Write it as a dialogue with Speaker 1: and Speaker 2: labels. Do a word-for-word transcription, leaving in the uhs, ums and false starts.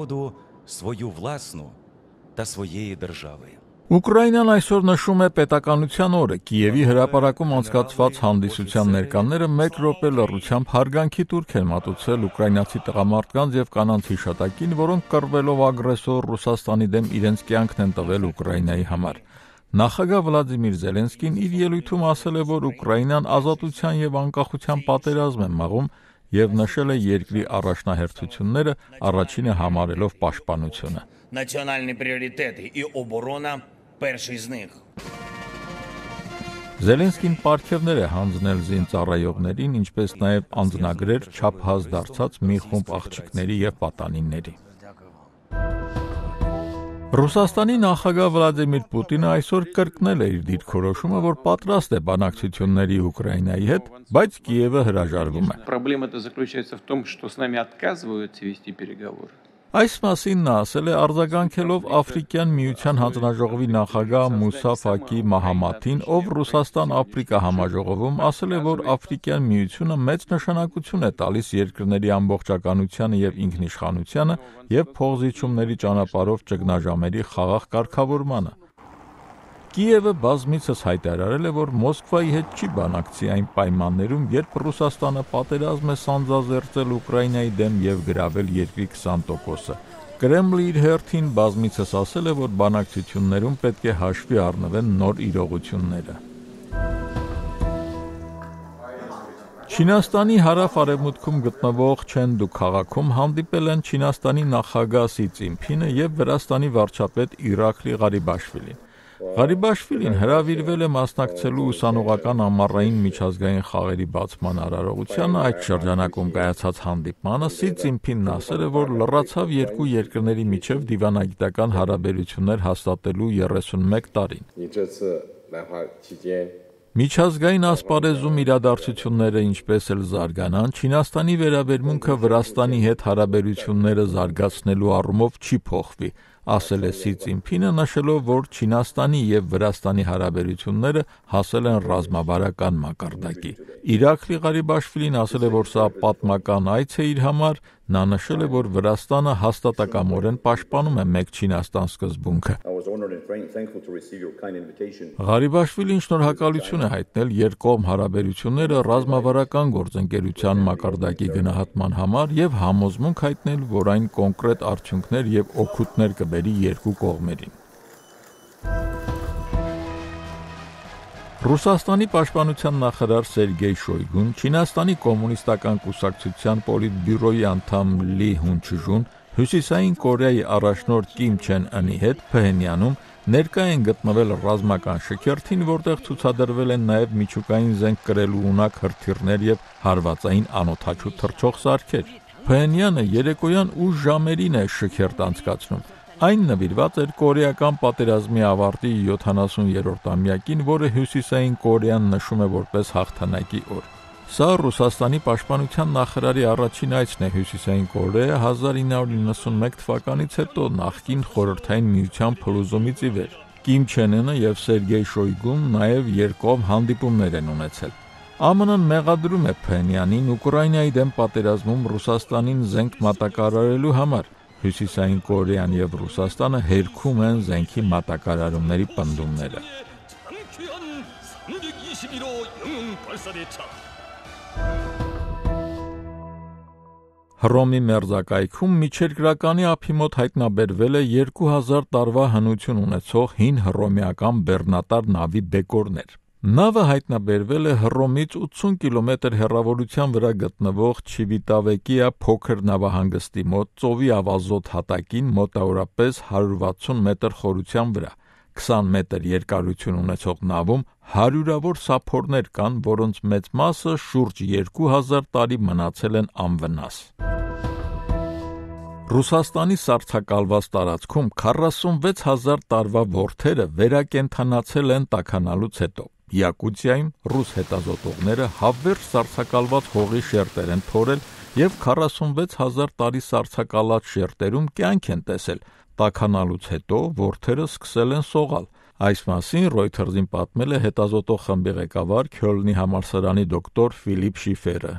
Speaker 1: свободу свою власну та своєї держави.
Speaker 2: Ուկրաինան այսօր նշում է պետականության օրը։ Կիևի հրապարակում անցկացված հանդիսության ներկաները մեկ րոպե լռությամբ հարգանքի տուրք են մատուցել ուկրաինացի տղամարդկանց եւ կանանց հիշատակին, որոնք կռվելով ագրեսոր Ռուսաստանի դեմ իրենց կյանքն են տվել Ուկրաինայի համար։ Նախագահ Վլադիմիր Զելենսկին իր ելույթում ասել է, որ Ուկրաինան ազատության եւ անկախության պատերազմ է մաղում եւ նշել է երկրի առաջնահերթությունները, առաջինը համարելով պաշտպանությունը։
Speaker 3: Національні пріоритети і оборона перший з них.
Speaker 2: Զելենսկին պարգևներ է հանձնել զինծառայողներին, ինչպես նաև անձնագրեր չափահաս դարձած մի խումբ աղջիկների եւ պատանիների։ Ռուսաստանի նախագահ Վլադիմիր Պուտինը այսօր կրկնել է իր դիրքորոշումը, որ պատրաստ է բանակցությունների Ուկրաինայի հետ, բայց Կիևը հրաժարվում է։
Speaker 4: Проблема-то заключается в том, что с нами отказываются вести переговоры.
Speaker 2: Այս մասին նա ասել է արձագանքելով Աֆրիկյան միության հանձնաժողովի նախագահ Մուսա Ֆակի Մահամաթին, ով Ռուսաստան-Աֆրիկա համաժողովում ասել է, որ Աֆրիկյան միությունը մեծ նշանակություն է տալիս երկրների ամբողջականությանը եւ ինքնիշխանությանը եւ փոխզիջումների ճանապարհով ճգնաժամերի խաղաղ կարգավորմանը։ Կիևը բազմիցս հայտարարել է, որ Մոսկվայի հետ չի բանակցի այն պայմաններում, երբ Ռուսաստանը պատերազմ է սանձազերծել Ուկրաինայի դեմ եւ գրավել երկրի քսան տոկոսը։ Կրեմլը իր հերթին բազմիցս ասել է, որ բանակցություններում պետք է հաշվի առնվեն նոր իրողությունները։ Չինաստանի հարավ-արևմուտքում գտնվող Չենդու քաղաքում հանդիպել են Չինաստանի նախագահ Սի Ցզինփինը եւ Վրաստանի վարչապետ Իրաքլի Ղարիբաշվիլին։ Ղարիբաշվիլին հրավիրվել է մասնակցելու ուսանողական ամառային միջազգային խաղերի բացման արարողությանը, այդ շրջանակում կայացած հանդիպմանը Սի Ցզինփինն ասել է, որ լրացավ երկու երկրների միջև դիվանագիտական հարաբերություններ հաստատելու երեսունմեկ տարին։ Միջազգային ասպարեզում իրադարձությունները ինչպես էլ զարգանան, Չինաստանի վերաբերմունքը Վրաստանի հետ հարաբերությունները զարգացնելու առումով չի փոխվի, ասել է Սի Ցզինփինը, նշելով, որ Չինաստանի եւ Վրաստանի հարաբերությունները հասել են ռազմավարական մակարդակի։ Իրաքլի Ղարիբաշվիլին ասել է, որ սա պատմական այց է իր համար, նա նշել է, որ Վրաստանը հաստատակամորեն պաշտպանում է մեկ Չինաստան սկզբունքը։ Ղարիբաշվիլին շնորհակալություն է հայտնել երկկողմ հարաբերությունները ռազմավարական գործընկերության մակարդակի գնահատման համար եւ համոզմունք հայտնել, որ այն կոնկրետ արդյունքներ եւ օգուտներ կբերի երկու կողմերին։ Ռուսաստանի պաշտպանության նախարար Սերգեյ Շոյգուն, Չինաստանի կոմունիստական կուսակցության պոլիտբյուրոյի անդամ Լի Հունչժուն, Հյուսիսային Կորեայի առաջնորդ Կիմ Չեն Ընի հետ Փհենյանում ներկա են գտնվել ռազմական շքերթին, որտեղ ցուցադրվել են նաև միջուկային զենք կրելու ունակ հրթիռներ եւ հարվածային անօդաչու թռչող սարքեր։ Փհենյանը երեկոյան ուշ ժամերին է շքերթ անցկացնում։ Այն նվիրված էր կորեական պատերազմի ավարտի յոթանասուներորդամյակին, որը Հյուսիսային Կորեան նշում է որպես հաղթանակի օր։ Սա Ռուսաստանի պաշտպանության նախարարի առաջին այցն է Հյուսիսային Կորեա հազար ինը հարյուր նվաթ թվականից հետո նախկին խորհրդային միության փլուզումից ի վեր։ Կիմ Չեն Ընը եւ Սերգեյ Շոյգուն նաեւ երկկողմ հանդիպումներ են ունեցել։ ԱՄՆ-ն մեղադրում է Փհենյանին Ուկրաինայի դեմ պատերազմում Ռուսաստանին զենք մատակարարելու համար։ Հյուսիսային Կորեան եւ Ռուսաստանը հերքում են զենքի մատակարարումների պնդումները։ Հռոմի մերձակայքում միջերկրականի ափի մոտ հայտնաբերվել է երկու հազար տարվա հնություն ունեցող հին հռոմեական բեռնատար նավի բեկորներ։ Նավը հայտնաբերվել է Հռոմից ութսուն կիլոմետր հեռավորության վրա գտնվող Չիվիտավեկիա փոքր նավահանգստի մոտ ծովի ավազոտ հատակին մոտավորապես հարյուր վաթսուն մետր խորության վրա։ քսան մետր երկարություն ունեցող նավում հարյուրավոր սափորներ կան, որոնց մեծ մասը շուրջ երկու հազար տարի մնացել են անվնաս։ Ռուսաստանի սառցակալված տարածքում քառասունվեց հազար տարվա որդերը վերակենդանացել են տաքանալուց հետո։ Յակուտիայում ռուս հետազոտողները հավերժ սառցակալված հողի շերտեր են փորել եւ քառասունվեց հազար տարի սառցակալած շերտերում կյանք են տեսել։ Տաքանալուց հետո որդերը սկսել են սողալ։ Այս մասին Reuters-ին պատմել է հետազոտող խմբի ղեկավար Քյոլնի համալսարանի դոկտոր Ֆիլիպ Շիֆերը։